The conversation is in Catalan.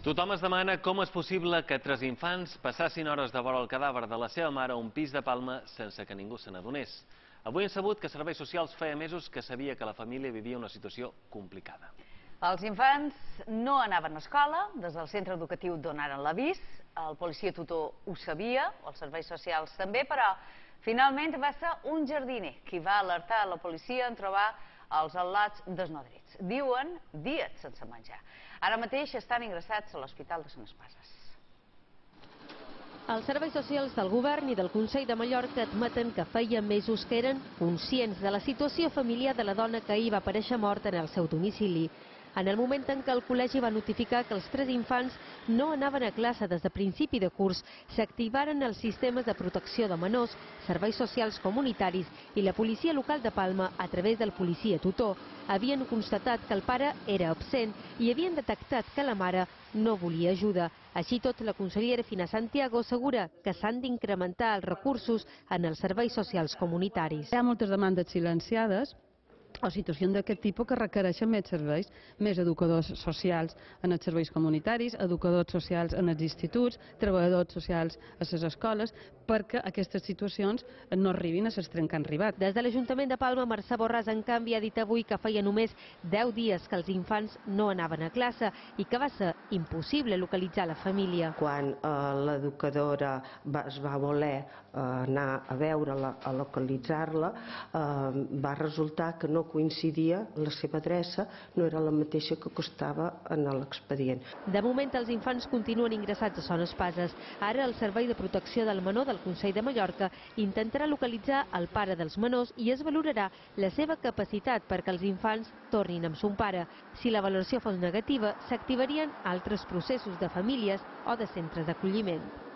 Tothom es demana com és possible que 3 infants passassin hores de vora el cadàver de la seva mare a un pis de Palma sense que ningú se n'adonés. Avui hem sabut que Serveis Socials feia mesos que sabia que la família vivia una situació complicada. Els infants no anaven a escola, des del centre educatiu donaren l'avís, el policia tutor ho sabia, els serveis socials també, però finalment va ser un jardiner qui va alertar la policia en trobar els al·lots desnodrits. Diuen dies sense menjar. Ara mateix estan ingressats a l'Hospital de Sant Espases. Els serveis socials del govern i del Consell de Mallorca admeten que feia mesos que eren conscients de la situació familiar de la dona que ahir va aparèixer morta en el seu domicili. En el moment en què el col·legi va notificar que els 3 infants no anaven a classe des de principi de curs, s'activaren els sistemes de protecció de menors, serveis socials comunitaris i la policia local de Palma, a través del policia tutor, havien constatat que el pare era absent i havien detectat que la mare no volia ajuda. Així tot, la consellera Fina Santiago assegura que s'han d'incrementar els recursos en els serveis socials comunitaris. Hi ha moltes demandes silenciades o situacions d'aquest tipus que requereixen més serveis, més educadors socials en els serveis comunitaris, educadors socials en els instituts, treballadors socials a les escoles, perquè aquestes situacions no arribin a l'extrem que han arribat. Des de l'Ajuntament de Palma, Mercè Borràs, en canvi, ha dit avui que feia només 10 dies que els infants no anaven a classe i que va ser impossible localitzar la família. Quan l'educadora es va voler anar a veure-la, a localitzar-la, va resultar que no coincidia, la seva adreça no era la mateixa que constava en l'expedient. De moment, els infants continuen ingressats a Son Espases. Ara, el Servei de Protecció del Menor del Consell de Mallorca intentarà localitzar el pare dels menors i es valorarà la seva capacitat perquè els infants tornin amb son pare. Si la valoració fos negativa, s'activarien altres processos de famílies o de centres d'acolliment.